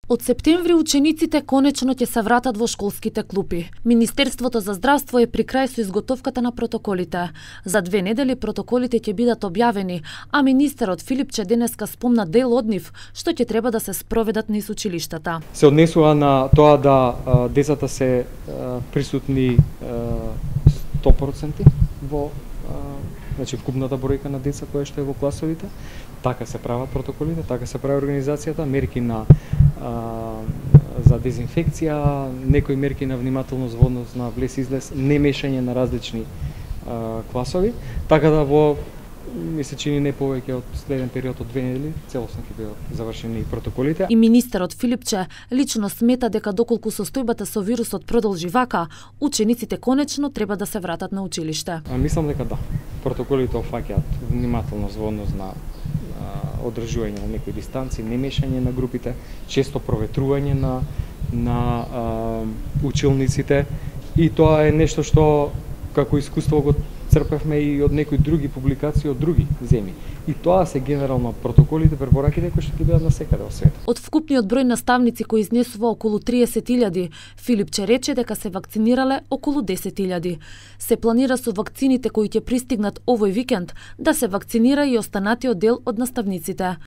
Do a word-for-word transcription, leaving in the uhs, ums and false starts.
Од септември учениците конечно ќе се вратат во школските клупи. Министерството за здравство е при крај со изготовката на протоколите. За две недели протоколите ќе бидат објавени, а министерот Филипче денеска спомна дел од нив што ќе треба да се спроведат низ училиштата. Се однесува на тоа да а, децата се а, присутни а, сто проценти во а, значи вкупната бројка на деца која што е во класовите. Така се прават протоколите, така се прави организацијата, мерки на а, за дезинфекција, некои мерки на внимателност во однос на влез-излез, не мешање на различни а, класови, така да во ми се чини не повеќе од следен период од две недели целосно ќе бидат завршени протоколите. И министерот Филипче лично смета дека доколку состојбата со вирусот продолжи вака, учениците конечно треба да се вратат на училиште. А, мислам дека да. Протоколите офаќаат внимателност во однос на одржување на некои дистанци, не мешање на групите, често проветрување на на а, училниците, и тоа е нешто што како искуство го црпевме и од некои други публикации од други земји. И тоа се генерално протоколите, препораките кои што ќе бидат насекаде во светот. Од вкупниот број наставници кои изнесува околу триесет илјади, Филипче рече дека се вакцинирале околу десет илјади. Се планира со вакцините кои ќе пристигнат овој викенд да се вакцинира и останатиот дел од наставниците.